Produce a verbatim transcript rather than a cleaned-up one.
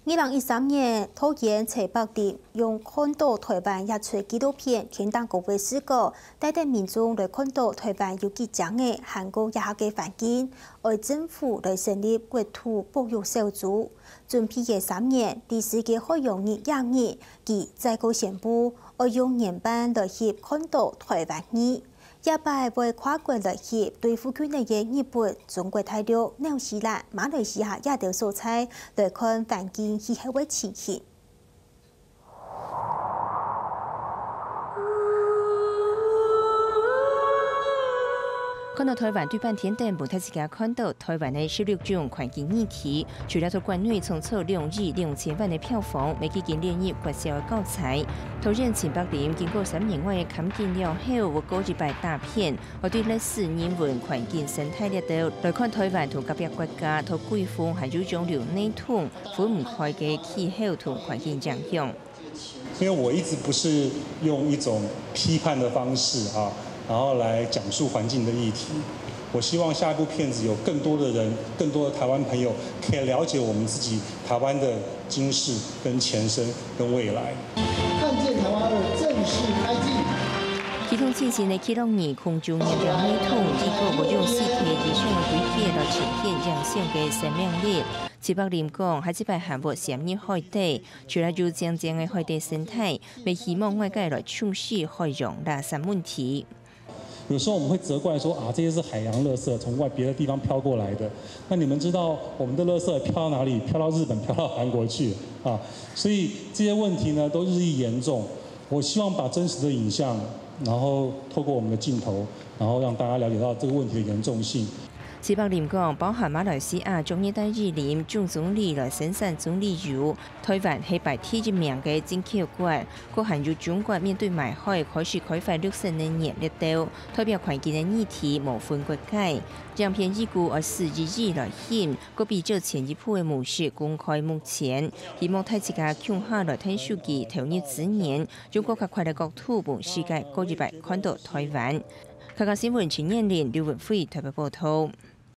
二零一三年，導演徐柏林用《看到台灣》這齣紀錄片，牽動國際視角，帶等民眾來看到台灣有幾靚个還過野下个環境，愛政府來成立國土保育小組。準備个三年，在世界海洋日這日，佢再過宣布，愛用原版來翕《看到台灣》二。 這擺會跨國來翕對附近个日本、中國大陸、紐西蘭、馬來西亞這兜所在，來看環境氣候个情形。看到台灣對半天頂，分大自家看到台灣个十六種環境議題，除了在國內創造兩億兩千萬个票房，乜已經列入國小个教材。導演徐柏林經過三年外个看景了後，會過一擺踏遍， 愛對歷史、人文、環境、生態這兜來看台灣同隔壁國家在季風還有洋流系統分毋開个氣候同環境影響。因為我一直不是用一種批判的方式啊，然後來講述環境的議題。我希望下一部片子有更多的人，更多的台灣朋友可以了解我們自己台灣的今世跟前身跟未來。看見台灣二正式開機。 系統進行个記錄儀空中驗量系統，預告會用四K以上个規格來呈現影像个生命力。徐柏林講，下一擺還會深入海底，除了有靚靚个海底生態，乜希望外界來重視海洋垃圾問題。有時候我們會責怪說啊，這些是海洋垃圾，從外別的地方飄過來的。那你們知道我們的垃圾飄到哪裡？飄到日本，飄到韓國去啊。所以這些問題呢，都日益嚴重。 我希望把真實的影像，然後透過我們的鏡頭，然後讓大家了解到這個問題的嚴重性。徐柏林講，包含馬來西亞駐熱帶雨林總總理來生產棕櫚油，台灣係排第一名个進口國，閣還有中國面對賣海開始開發綠色能源這兜，代表環境个議題無分國界。影片預估愛十一億來翕， 閣比照前一部个模式公開目前，希望大自家共下來𢯭手機投入資源，用更加闊个角度分世界過一擺看到台灣。客家新聞陳燕玲、劉文輝台北報導。